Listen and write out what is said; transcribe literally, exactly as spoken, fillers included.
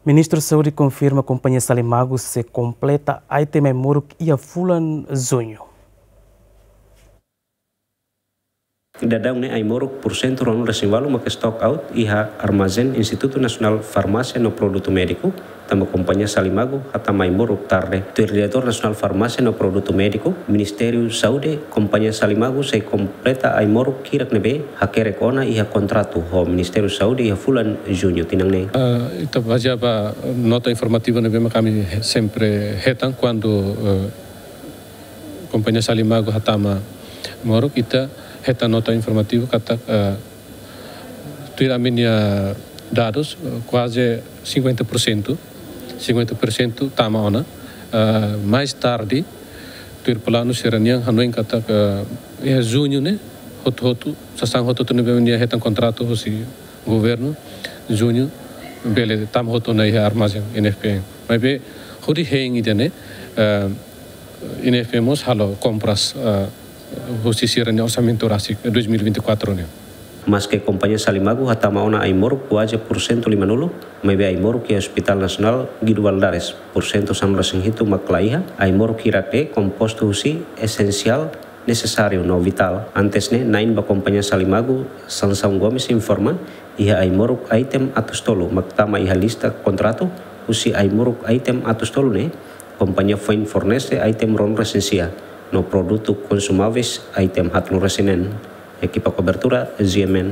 Ministru Saúde konfirma kompañia Salimagu sei kompleta item ai-moruk iha fulan Juñu. Daudaun ne'e ai-moruk pursentu ruanulu-resin-ualu maka stock out iha armazén Institutu Nasionál Farmásia no Produtu Médiku, tanba kompañia Salimagu hatama ai-moruk tarde. Tuir Diretór Nasionál Farmásia no Produtu Médiku, Ministériu Saúde, kompañia Salimagu sei kompleta ai-moruk hirak ne'ebé hakerek ona iha kontratu ho Ministériu Saúde iha fulan Juñu tinan ne'e. Ah, ita bazeia ba nota informativa ne'ebé mak ami he-, sempre hetan kuandu, eh, kompañia Salimagu hatama moruk, ita hetan nota informativa katak, eh, tuir ami-nia dadus, eh, kuaze sinkuenta por sentu, sinkuenta por sentu tama ona. Eh, mais tarde, tuir planu sira-nian hanoin katak, eh, iha Juñu ne'e, hotu-hotu, sasán hotu-hotu ne'ebé nia hetan kontratu husi governu, Juñu, bele tama hotu ona iha armazén I N F P M. Maibé, hodi hein ida-ne'e, eh, I N F P M mós halo kompras, eh, husi sira-nia orsamentu rasik dois mil e vinte e quatro ne'e. Maske kompañia Salimagu hatama ona ai-moruk kuaze pursentu limanulu, maibé ai-moruk iha Hospital Nasionál Guido Valadares, pursentu sanulu-resin-hitu mak la iha, ai-moruk hirak ne'e kompostu husi esensiál, nesesáriu no vitál. Antes ne'e, na'in ba kompañia Salimagu, Sansão Gomes, informa, iha ai-moruk item atus tolu mak tama iha lista kontratu, husi ai-moruk item atus tolu ne'e, kompañia foin fornese item ruanulu-resin-sia, no produtu konsumáveis item haatnulu-resin-neen. Ekipa kobertura, G M N.